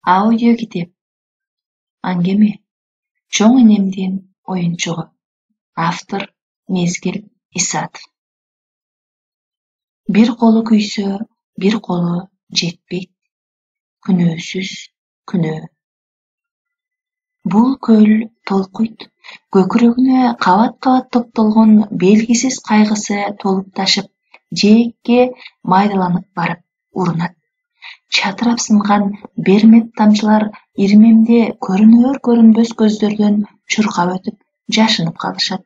Аудиокитеп. Аңгеме. Чоң энемдин оюнчугу. Автор Мезгил Исатов. Бир колу күйсө, бир колу жетпейт. Күнөөсүз күнөө. Бул көл толкуйт. Көкүрөгүнө кабат-кабат топтолгон белгисиз кайгысы толуп ташып, жээкке майдаланып барып урунат. Чатырап сынган бермек тамчылар ирмемде көрүнөр-көрүнбөс көздөрдөн чуркап өтүп, жашынып калышат.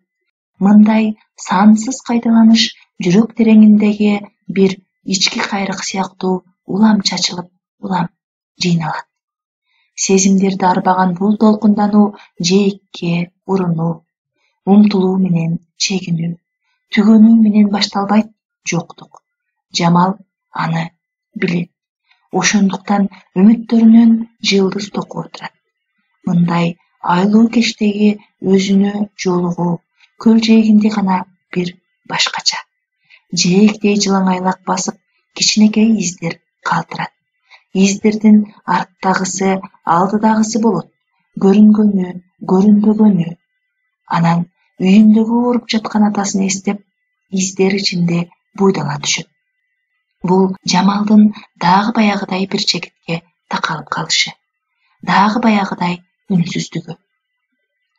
Мындай сансыз кайталаныш жүрөк тереңиндеги бир ички кайрык сыяктуу улам чачылып, улам жыйналат. Сезимдерди арбаган бул толкундануу жээкке урунуу, умтулуу менен чегинүү, түгөнүү менен башталбайт жоктук. Жамал аны билет. Ошондуктан үмүттөрүнөн жылдыз токуп отурат. Мындай айлуу кечтеги өзүнө жолугуу көл жээгинде гана бир башкача. Жээктей жылаңайлак басып, кичинекей издер калтырат. Издердин арттагысы, алдыдагысы болот. Көрүнгөнү, көрүнбөгөнү. Анан үйүндөгү ооруп жаткан атасын эстеп, издер ичинде буйдала түшөт. Бул Жамалдын дагы баягыдай бир чекитке такалып калышы, дагы баягыдай үнсүздүгү.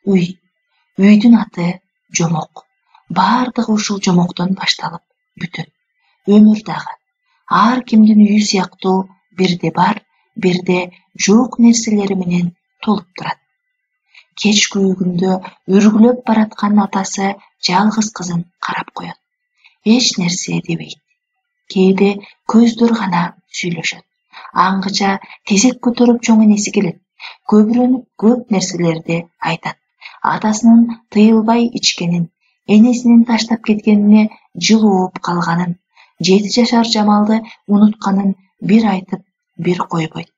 Үйдүн аты Жомок. Бардыгы ушул жомоктон башталып бүтөт. Өмүр дагы ар кимдин үйү сыяктуу бирде бар, бирде жок нерселери менен толуп турат. Кеч күйүүгүндө үргүлөп бараткан атасы жалгыз кызын карап коет. Эч нерсе дебейт. Кээде көздөр гана сүйлөшөт. Аңгыча тезек көтөрүп чоң энеси келет. Көбүрөнүп көп нерселерди айтат. Атасынын тыйылбай ичкенин, энесинин таштап кеткенине жылооп калганын, 7 жашар Жамалды унутканын бир айтып, бир койбойт.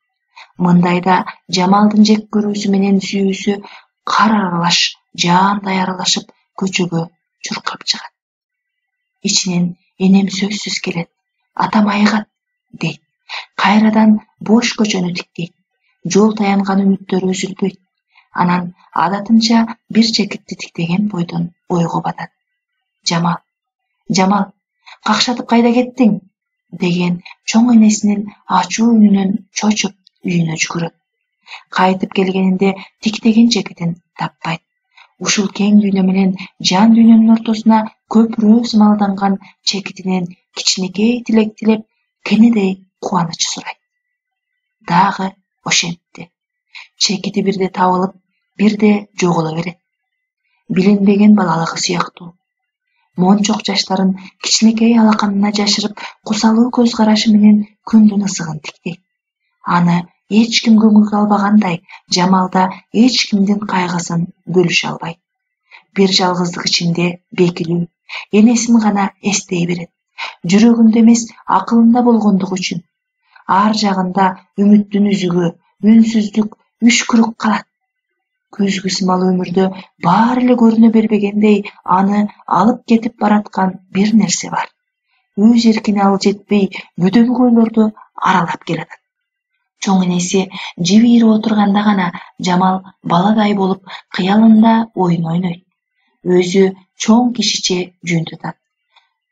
Мындайда Жамалдын жек көрүүсү менен сүйүүсү кар аралаш, жаандай аралашып көчөгө чуркап чыгат. Ичинен энем сөзсүз келет. Атам айыгат, дейт. Кайрадан бош көчөнү тиктейт. Жол таянган үмүттөрү үзүлбөйт. Анан адатынча бир чекитти тиктеген бойдон ойго батат. Жамал, какшатып кайда кеттиң? Деген чоң энесинин ачуу үнүнөн чочуп үйүнө жүгүрөт. Кайтып келгенинде тиктеген чекитин таппайт. Ушул кең дүйнө менен жан дүйнөнүн ортосуна көпүрө сымалданган чекитинен кичинекей тилек тилеп, кенедей кубаныч сурайт. Дагы ошентти. Чекити бирде табылып, бирде жоголо берет. Билинбеген балалыгы сыяктуу. Мончок жаштарын кичинекей алаканына жашырып, кусалуу көз карашы менен күндүн ысыгын тиктейт. Аны эч ким көңүлгө албагандай, Жамалда эч кимдин кайгысын бөлүшө албайт. Бир жалгыздык ичинде бекилүү, энесин гана эстей берет. Жүрөгүндө эмес, акылында болгондугу үчүн. Ар жагында үмүттүн үзүгү, үнсүздүк, үшкүрүк калат. Күзгү сымал өмүрдө баары эле көрүнө бербегендей, аны алып кетип бараткан бир нерсе бар. Өз эркине ал жетпей, бүдөлүк ойлорду аралап келатат. Чоң энеси жибирип отурганда гана Жамал баладай болуп кыялында оюн ойнойт. Өзү чоң кишиче жөн тутат.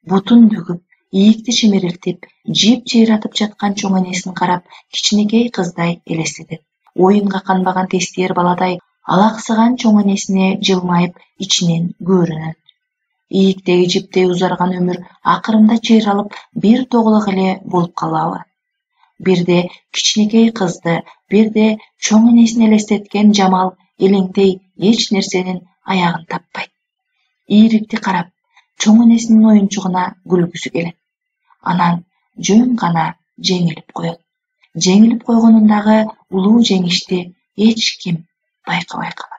Бутун бүгүп, ийикти чимирилтип, жип жыйратып жаткан чоң энесин карап, кичинекей кыздай элестетет. Оюнга канбаган тестиер баладай алаксыган чоң энесине жылмайып, ичинен көрүнөт. Ийиктеги жиптей узарган өмүр акырында чыйралып, бир тоголок эле болуп калабы? Бирде кичинекей кызды, бирде чоң энесин элестеткен Жамал элеңтей эч нерсенин аягын таппайт. Ийрикти карап, чоң энесинин оюнчугуна күлгүсү келет. Анан жөн гана жеңилип коет. Жеңилип койгонундагы улуу жеңишти эч ким байкабай калат.